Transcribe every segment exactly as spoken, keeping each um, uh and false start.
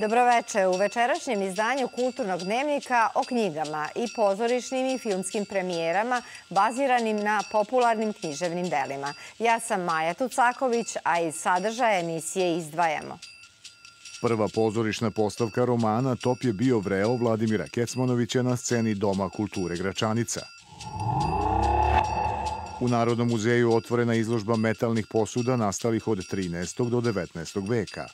Dobroveče. U večerašnjem izdanju Kulturnog dnevnika o knjigama i pozorišnim i filmskim premijerama baziranim na popularnim književnim delima. Ja sam Maja Tucaković, a iz sadržaja emisije izdvajamo. Prva pozorišna postavka romana Top je bio vreo Vladimira Kecmanovića na sceni Doma kulture Gračanica. U Narodnom muzeju otvorena izložba metalnih posuda nastalih od trinaestog do devetnaestog veka.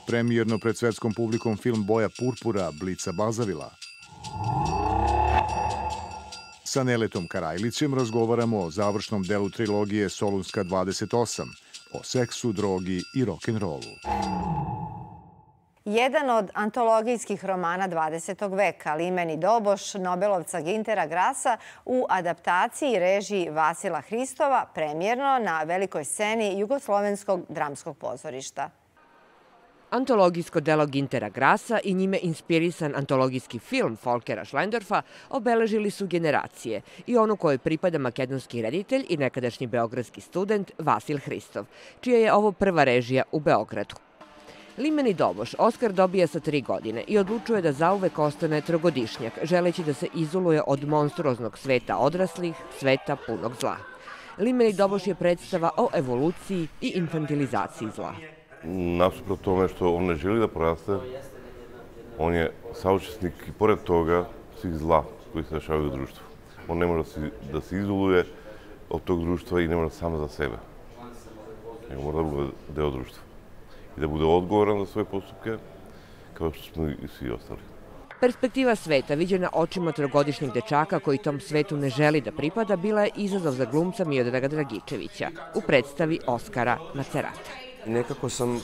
Premijerno pred svetskom publikom film Boja purpura Blica Bazavila. Sa Neletom Karajlićem razgovaramo o završnom delu trilogije Solunska dvadeset osam, o seksu, drogi i rock'n'rollu. Jedan od antologijskih romana dvadesetog veka, Limeni Doboš, Nobelovca Gintera Grasa, u adaptaciji i režiji Vasila Hristova, premijerno na velikoj sceni Jugoslovenskog dramskog pozorišta. Antologijsko delo Gintera Grasa i njime inspirisan antologijski film Folkera Šlendorfa obeležili su generacije i onu kojoj pripada makedonski reditelj i nekadašnji beogradski student Vasil Hristov, čija je ovo prva režija u Beogradu. Limeni Doboš Oskar dobija sa tri godine i odlučuje da zauvek ostane trogodišnjak, želeći da se izoluje od monstruoznog sveta odraslih, sveta punog zla. Limeni Doboš je predstava o evoluciji i infantilizaciji zla. Nasuprot tome što on ne želi da poraste, on je saučesnik i pored toga svih zla koji se dešavaju u društvu. On ne može da se izoluje od tog društva i ne može samo za sebe. Nego mora da bude deo društva i da bude odgovoran za svoje postupke, kao što smo i svi ostali. Perspektiva sveta, viđena očima trogodišnjeg dečaka koji tom svetu ne želi da pripada, bila je izazov za glumca Miodraga Dragičevića u predstavi Oskara Macerata. Nekako sam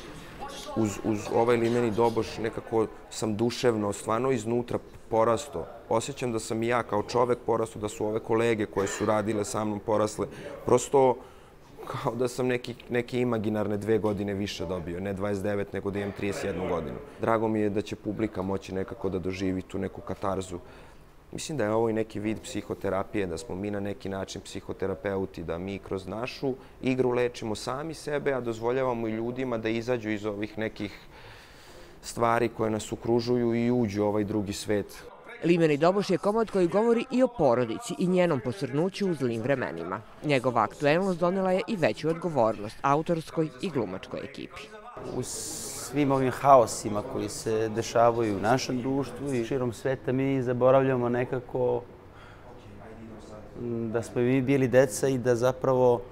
uz, uz ovaj Limeni Doboš, nekako sam duševno, stvarno iznutra porastao. Osjećam da sam i ja kao čovek porastao, da su ove kolege koje su radile sa mnom porasle. Prosto kao da sam neki, neke imaginarne dve godine više dobio, ne dvadeset devet, nego da imam trideset jednu godinu. Drago mi je da će publika moći nekako da doživi tu neku katarzu. Mislim da je ovo i neki vid psihoterapije, da smo mi na neki način psihoterapeuti, da mi kroz našu igru lečimo sami sebe, a dozvoljavamo i ljudima da izađu iz ovih nekih stvari koje nas okružuju i uđu u ovaj drugi svet. Limeni Doboš je komad koji govori i o porodici i njenom posrnuću u zlim vremenima. Njegova aktuelnost donela je i veću odgovornost autorskoj i glumačkoj ekipi. U svim ovim haosima koji se dešavaju u našem društvu i širom sveta mi zaboravljamo nekako da smo mi bili deca i da zapravo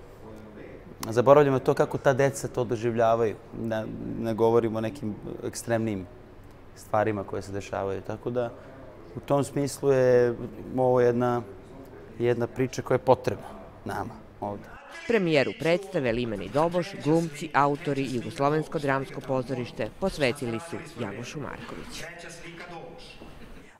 zaboravljamo to kako ta deca to doživljavaju. Da ne govorimo o nekim ekstremnim stvarima koje se dešavaju. Tako da u tom smislu je ovo jedna, jedna priča koja je potrebna nama ovdje. Premijeru predstave Limeni Doboš, glumci, autori i Jugoslovensko dramsko pozorište posvetili su Janošu Markoviću.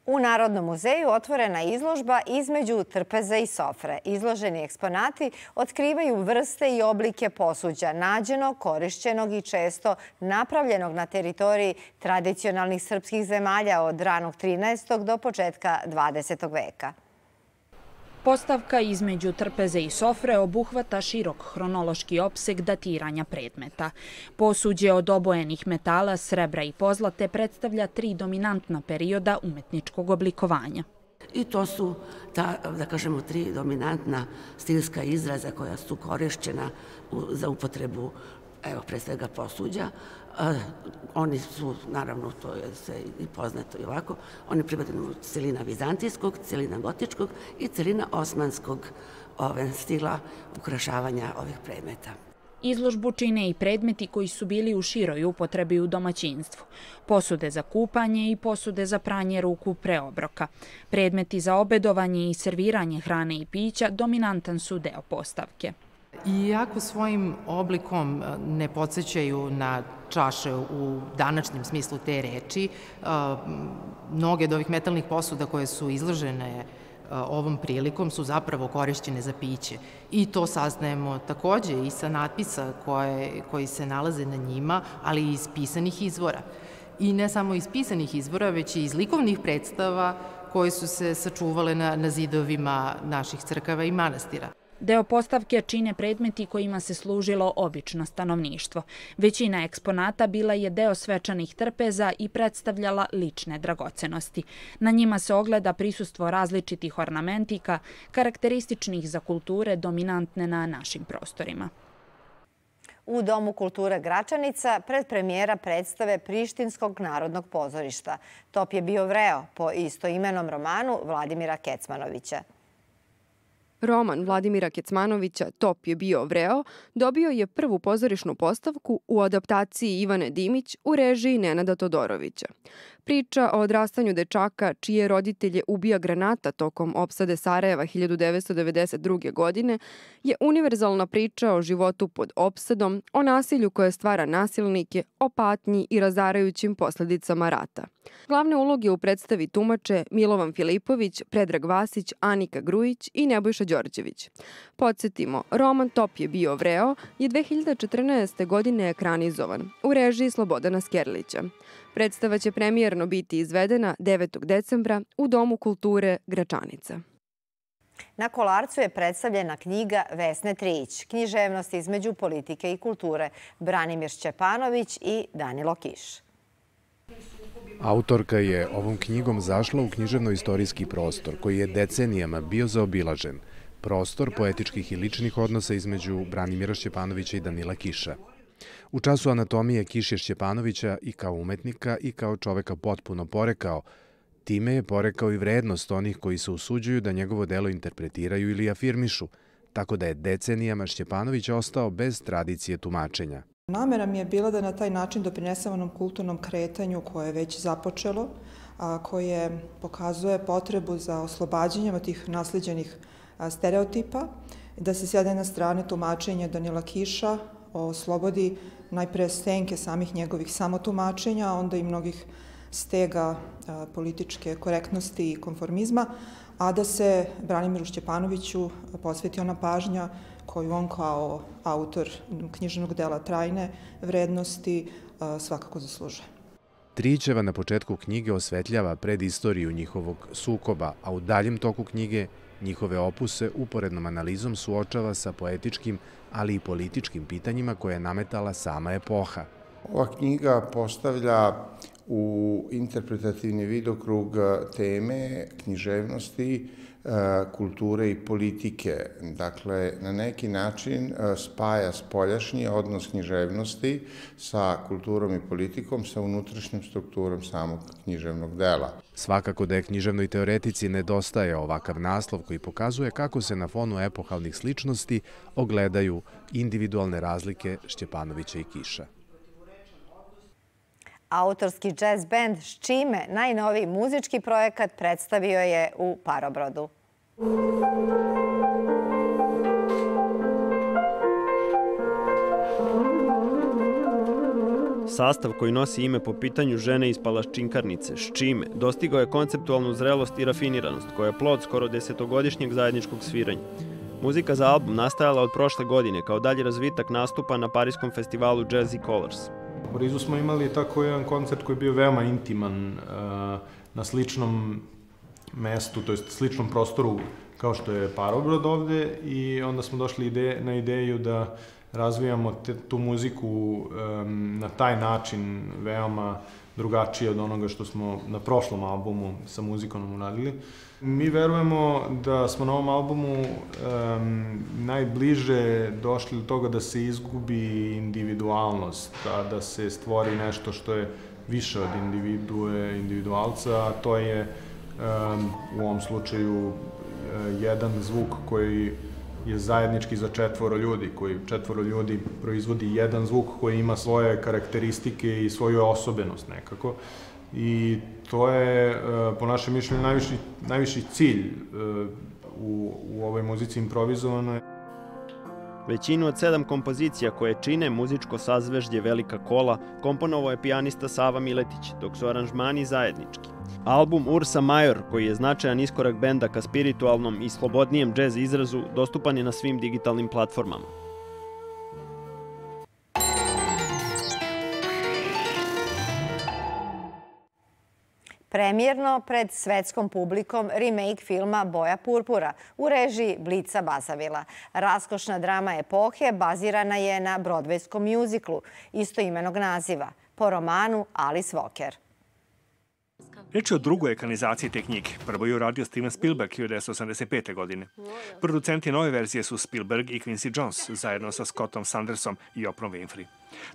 U Narodnom muzeju otvorena izložba Između trpeze i sofre. Izloženi eksponati otkrivaju vrste i oblike posuđa, nađenog, korišćenog i često napravljenog na teritoriji tradicionalnih srpskih zemalja od ranog trinaestog do početka dvadesetog veka. Postavka Između trpeze i sofre obuhvata širok hronološki opseg datiranja predmeta. Posuđe od obojenih metala, srebra i pozlate predstavlja tri dominantna perioda umetničkog oblikovanja. I to su, ta, da kažemo, tri dominantna stilska izraza koja su korišćena za upotrebu, evo, pre svega posuđa. Oni su, naravno, to je sve i poznato i ovako, oni pripadaju celina vizantijskog, celina gotičkog i celina osmanskog stila ukrašavanja ovih predmeta. Izložbu čine i predmeti koji su bili u široj upotrebi u domaćinstvu. Posude za kupanje i posude za pranje ruku pre obroka. Predmeti za obedovanje i serviranje hrane i pića dominantan su deo postavke. Iako svojim oblikom ne podsjećaju na čaše u današnjem smislu te reči, mnoge od ovih metalnih posuda koje su izložene ovom prilikom su zapravo korišćene za piće. I to saznajemo takođe i sa natpisa koje, koji se nalaze na njima, ali i iz pisanih izvora. I ne samo iz pisanih izvora, već i iz likovnih predstava koje su se sačuvale na, na zidovima naših crkava i manastira. Deo postavke čine predmeti kojima se služilo obično stanovništvo. Većina eksponata bila je deo svečanih trpeza i predstavljala lične dragocenosti. Na njima se ogleda prisustvo različitih ornamentika, karakterističnih za kulture dominantne na našim prostorima. U Domu kulture Gračanica predpremijera predstave Prištinskog narodnog pozorišta. Top je bio vreo po istoimenom romanu Vladimira Kecmanovića. Roman Vladimira Kecmanovića Top je bio vreo dobio je prvu pozorišnu postavku u adaptaciji Ivane Dimić u režiji Nenada Todorovića. Priča o odrastanju dečaka čije roditelje ubija granata tokom opsade Sarajeva hiljadu devetsto devedeset druge. godine je univerzalna priča o životu pod opsadom, o nasilju koje stvara nasilnike, o patnji i razarajućim posljedicama rata. Glavne uloge u predstavi tumače Milovan Filipović, Predrag Vasić, Anika Grujić i Nebojša Đorđević. Podsjetimo, roman Top je bio vreo je dve hiljade četrnaeste. godine ekranizovan u režiji Slobodana Skerlića. Predstava će premijerno biti izvedena devetog decembra u Domu kulture Gračanica. Na Kolarcu je predstavljena knjiga Vesne Trijić, književnost između politike i kulture, Branimir Šćepanović i Danilo Kiš. Autorka je ovom knjigom zašla u književno-istorijski prostor koji je decenijama bio zaobilažen, prostor poetičkih i ličnih odnosa između Branimira Šćepanovića i Danila Kiša. U času anatomije Kiš je Šćepanovića i kao umetnika i kao čoveka potpuno porekao. Time je porekao i vrednost onih koji se usuđuju da njegovo delo interpretiraju ili afirmišu, tako da je decenijama Šćepanović ostao bez tradicije tumačenja. Namera mi je bila da na taj način doprinesem onom kulturnom kretanju koje je već započelo, a koje pokazuje potrebu za oslobađanjem od tih naslijeđenih stereotipa, da se s jedne strane tumačenje Danila Kiša oslobodi najpre senke samih njegovih samotumačenja, a onda i mnogih stega političke korektnosti i konformizma, a da se Branimiru Šćepanoviću posveti ona pažnja koju on kao autor književnog dela trajne vrednosti svakako zaslužuje. Trijićeva na početku knjige osvetljava predistoriju njihovog sukoba, a u daljem toku knjige njihove opuse uporednom analizom suočava sa poetičkim, ali i političkim pitanjima koje je nametala sama epoha. Ova knjiga postavlja u interpretativni vidokrug teme književnosti, kulture i politike. Dakle, na neki način spaja spoljašnji odnos književnosti sa kulturom i politikom, sa unutrašnjom strukturom samog književnog dela. Svakako da je književnoj teoretici nedostaje ovakav naslov koji pokazuje kako se na fonu epohalnih sličnosti ogledaju individualne razlike Šćepanovića i Kiša. Autorski jazz band Ščime, najnoviji muzički projekat, predstavio je u Parobrodu. Sastav koji nosi ime po pitanju žene iz Palaščinkarnice, Ščime, dostigao je konceptualnu zrelost i rafiniranost, koja je plod skoro desetogodišnjeg zajedničkog sviranja. Muzika za album nastajala od prošle godine kao dalji razvitak nastupa na parijskom festivalu Jazzy Colors. U Parizu smo imali tako jedan koncert koji je bio veoma intiman na sličnom mestu, to jest sličnom prostoru kao što je Parobrod ovde, i onda smo došli na ideju da razvijamo tu muziku na taj način veoma drugačije od onoga što smo na prošlom albumu sa muzikom uradili. Mi verujemo da smo na ovom albumu najbliže došli do toga da se izgubi individualnost, da se stvori nešto što je više od individue, individualca, a to je u ovom slučaju jedan zvuk koji je zajednički za četvoro ljudi, koji četvoro ljudi proizvodi jedan zvuk koji ima svoje karakteristike i svoju osobenost nekako. I to je, po našem mišljenju, najviši, najviši cilj u, u ovoj muzici improvizovanoj. Većinu od sedam kompozicija koje čine muzičko sazveždje Velika kola komponovao je pijanista Sava Miletić, dok su aranžmani zajednički. Album Ursa Major, koji je značajan iskorak benda ka spiritualnom i slobodnijem džez izrazu, dostupan je na svim digitalnim platformama. Premijerno pred svetskom publikom remake filma Boja purpura u režiji Blica Basavila. Raskošna drama epohe bazirana je na brodvejskom mjuziklu istoimenog naziva, po romanu Alice Walker. Reč je o drugoj ekranizaciji te knjige. Prvo je uradio Steven Spielberg hiljadu devetsto osamdeset pete. godine. Producenti nove verzije su Spielberg i Quincy Jones, zajedno sa Scottom Sandersom i Oprah Winfrey.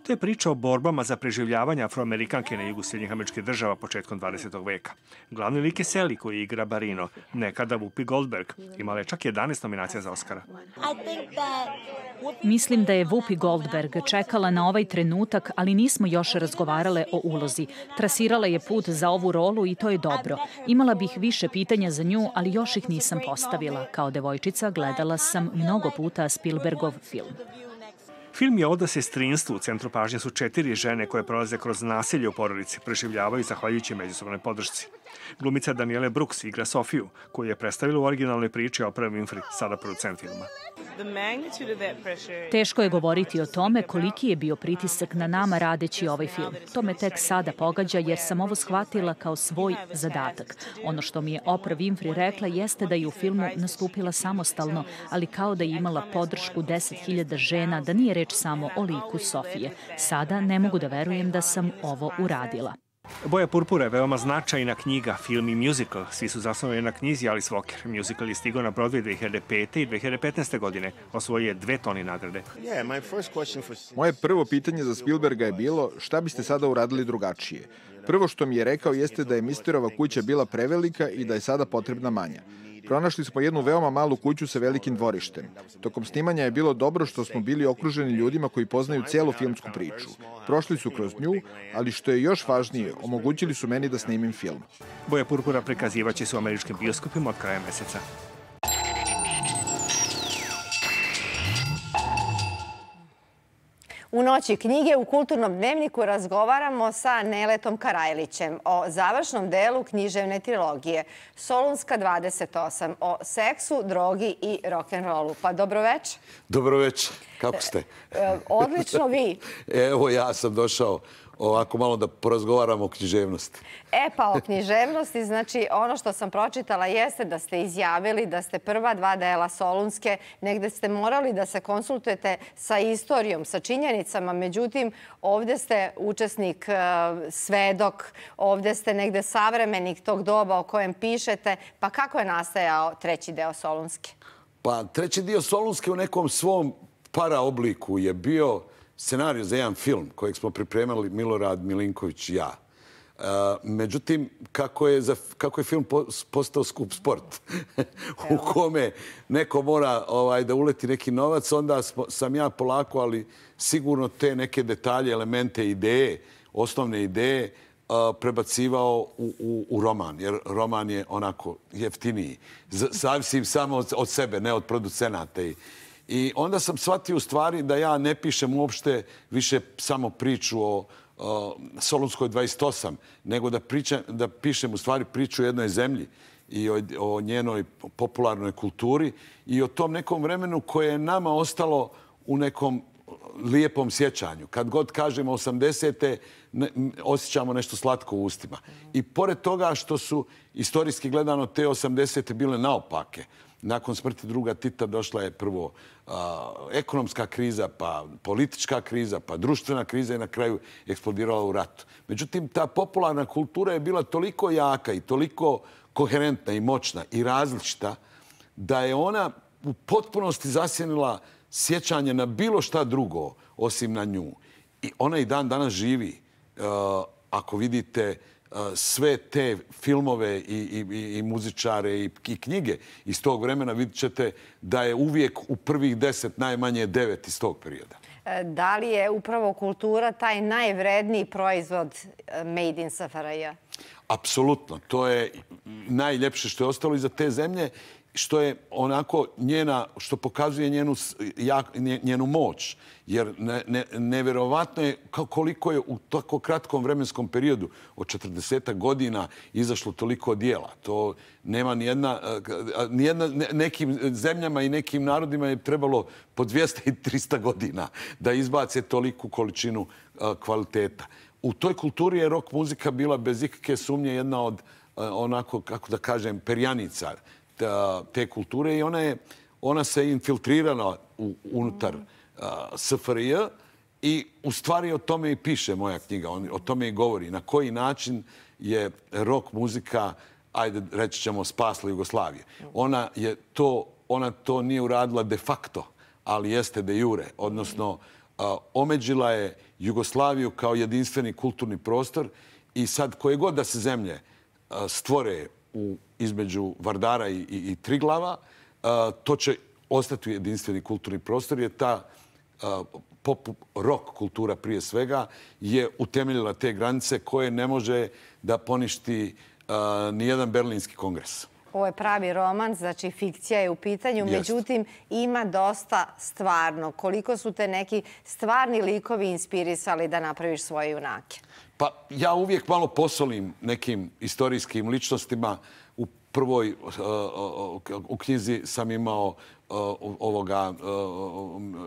To je priča o borbama za preživljavanje Afroamerikanke na jugu Sjedinjenih Američkih Država početkom dvadesetog veka. Glavni lik je Sally koji igra Barino, nekada Whoopi Goldberg. Imala je čak jedanaest nominacija za Oscara. Mislim da je Whoopi Goldberg čekala na ovaj trenutak, ali nismo još razgovarale o ulozi. Trasirala je put za ovu rolu i to je dobro. Imala bih više pitanja za nju, ali još ih nisam postavila. Kao devojčica gledala sam mnogo puta Spielbergov film. Film je oda sestrinstvu. U centru pažnje su četiri žene koje prolaze kroz nasilje u porodici, preživljavaju zahvaljujući međusobnoj podršci. Glumica Danielle Brooks igra Sofiju, koju je predstavila u originalnoj priči Oprah Winfrey, sada producent filma. Teško je govoriti o tome koliki je bio pritisak na nama radeći ovaj film. To me tek sada pogađa jer sam ovo shvatila kao svoj zadatak. Ono što mi je Oprah Winfrey rekla jeste da je u filmu nastupila samostalno, ali kao da je imala podršku deset hiljada žena, da nije reč samo o liku Sofije. Sada ne mogu da verujem da sam ovo uradila. Boja purpura je veoma značajna knjiga, film i musical. Svi su zasnovani na knjizi Alice Walker. Musical je stigao na Broadway dve hiljade pete. i dve hiljade petnaeste. godine. Osvojio je dve Tony nagrade. Moje prvo pitanje za Spielberga je bilo šta biste sada uradili drugačije. Prvo što mi je rekao jeste da je Misterova kuća bila prevelika i da je sada potrebna manja. Pronašli smo jednu veoma malu kuću sa velikim dvorištem. Tokom snimanja je bilo dobro što smo bili okruženi ljudima koji poznaju celu filmsku priču. Prošli su kroz nju, ali što je još važnije, omogućili su meni da snimim film. Boja purpura prikazivaće se u američkim bioskopima od kraja meseca. U noći knjige u Kulturnom dnevniku razgovaramo sa Neletom Karajlićem o završnom delu književne trilogije Solunska dvadeset osam, o seksu, drogi i rock'n'rollu. Pa dobroveče. Dobroveče. Kako ste? E, odlično vi. Evo ja sam došao ovako malo da porazgovaramo o književnosti. E pa o književnosti, znači ono što sam pročitala jeste da ste izjavili da ste prva dva dela Solunske, negde ste morali da se konsultujete sa istorijom, sa činjenicama, međutim ovde ste učesnik, svedok, ovde ste negde savremenik tog doba o kojem pišete, pa kako je nastajao treći deo Solunske? Pa treći dio Solunske u nekom svom paraobliku je bio scenarij za jedan film kojeg smo pripremali Milorad Milinković i ja. Međutim, kako je, za, kako je film postao skup sport u kome neko mora ovaj, da uleti neki novac, onda sam ja polako, ali sigurno te neke detalje, elemente, ideje, osnovne ideje prebacivao u, u, u roman, jer roman je onako jeftiniji. Zavisim samo od, od sebe, ne od producenata. I, I onda sam shvatio u stvari da ja ne pišem uopšte više samo priču o, o Solunskoj dvadeset osam, nego da, pričam, da pišem u stvari priču o jednoj zemlji i o, o njenoj popularnoj kulturi i o tom nekom vremenu koje je nama ostalo u nekom lijepom sjećanju. Kad god kažemo osamdesete, ne, osjećamo nešto slatko u ustima. I pored toga što su istorijski gledano te osamdesete bile naopake, nakon smrti druga Tita došla je prvo a, ekonomska kriza, pa politička kriza, pa društvena kriza i na kraju eksplodirala u ratu. Međutim, ta popularna kultura je bila toliko jaka i toliko koherentna i moćna i različita da je ona u potpunosti zasjenila sjećanje na bilo šta drugo osim na nju. I ona i dan danas živi. A, ako vidite sve te filmove i, i, i muzičare i, i knjige iz tog vremena, vidjet ćete da je uvijek u prvih deset najmanje devet iz tog perioda. Da li je upravo kultura taj najvredniji proizvod Made in S F R J? Apsolutno. To je najljepše što je ostalo iza te zemlje, što je onako njena, što pokazuje njenu, jak, njenu moć. Jer ne, ne, nevjerovatno je koliko je u tako kratkom vremenskom periodu od četrdeset godina izašlo toliko dijela. To nema nijedna, nijedna, nekim zemljama i nekim narodima je trebalo po dvjesto i trista godina da izbace toliku količinu kvaliteta. u toj kulturi je rock muzika bila bez ikakve sumnje jedna od, onako, kako da kažem, perjanica te kulture i ona je ona se infiltrirala unutar S F R J i u stvari o tome i piše moja knjiga, o tome i govori. Na koji način je rock muzika, ajde reći ćemo, spasla Jugoslavije. Ona je to, ona to nije uradila de facto, ali jeste de jure, odnosno omeđila je Jugoslaviju kao jedinstveni kulturni prostor i sad koje god da se zemlje stvore u, između Vardara i, i, i Triglava, to će ostati jedinstveni kulturni prostor jer ta pop rock kultura prije svega je utemeljila te granice koje ne može da poništi nijedan berlinski kongres. Ovo je pravi roman, znači fikcija je u pitanju, međutim ima dosta stvarno. Koliko su te neki stvarni likovi inspirisali da napraviš svoje junake? Pa ja uvijek malo posolim nekim istorijskim ličnostima. U prvoj u knjizi sam imao ovoga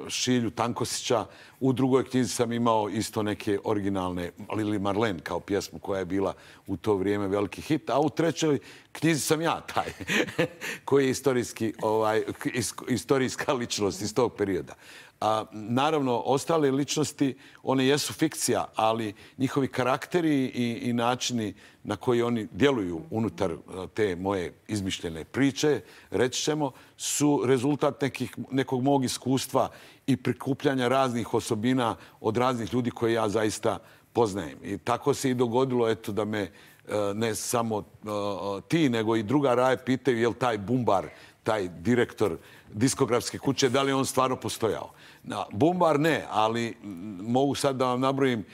Šilju Tankosića, u drugoj knjizi sam imao isto neke originalne Lili Marlen kao pjesmu koja je bila u to vrijeme veliki hit, a u trećoj knjizi sam ja taj koji je istorijski, ovaj, istorijska ličnost iz tog perioda. A, naravno, ostale ličnosti, one jesu fikcija, ali njihovi karakteri i, i načini na koji oni djeluju unutar te moje izmišljene priče, reći ćemo, su rezultat nekih, nekog mog iskustva i prikupljanja raznih osobina od raznih ljudi koje ja zaista poznajem. I tako se i dogodilo, eto, da me ne samo ti, nego i druga Raje pitaju je li taj Bumbar, taj direktor diskografske kuće, da li on stvarno postojao. Bumbar ne, ali mogu sad da vam nabrojim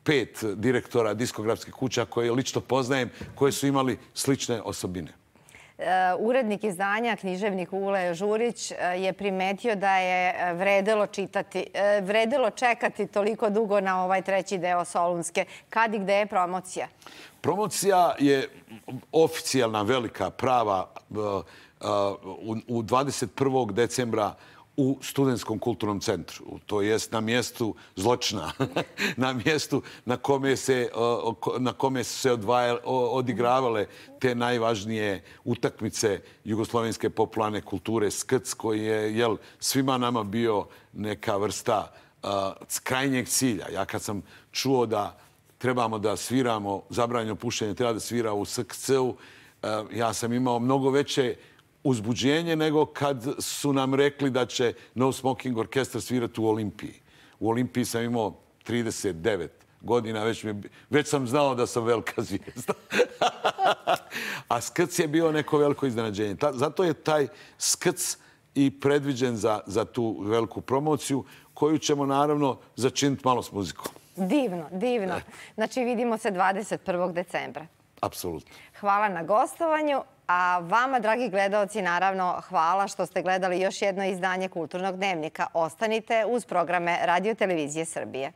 pet direktora diskografskih kuća koje lično poznajem, koje su imali slične osobine. Urednik izdanja, književnik Ule Žurić, je primetio da je vredelo čitati, vredelo čekati toliko dugo na ovaj treći deo Solunske. Kad i gde je promocija? Promocija je oficijalna, velika, prava u dvadeset prvog decembra u Studentskom kulturnom centru. To jest na mjestu zločina. Na mjestu na kome se, na kome su se odvajale, odigravale te najvažnije utakmice jugoslovenske popularne kulture S K C, koji je jel, svima nama bio neka vrsta uh, krajnjeg cilja. Ja kad sam čuo da trebamo da sviramo, zabranjeno pušenje treba da svira u S K C-u, uh, ja sam imao mnogo veće uzbuđenje nego kad su nam rekli da će No Smoking orkestar svirati u Olimpiji. U Olimpiji sam imao trideset devet godina, već, mi, već sam znao da sam velika zvijezda. A S K C je bio neko veliko iznenađenje. Ta, zato je taj S K C i predviđen za, za tu veliku promociju koju ćemo naravno začiniti malo s muzikom. Divno, divno. Znači vidimo se dvadeset prvog decembra. Apsolutno. Hvala na gostovanju. A vama, dragi gledaoci, naravno, hvala što ste gledali još jedno izdanje Kulturnog dnevnika. Ostanite uz programe Radio Televizije Srbije.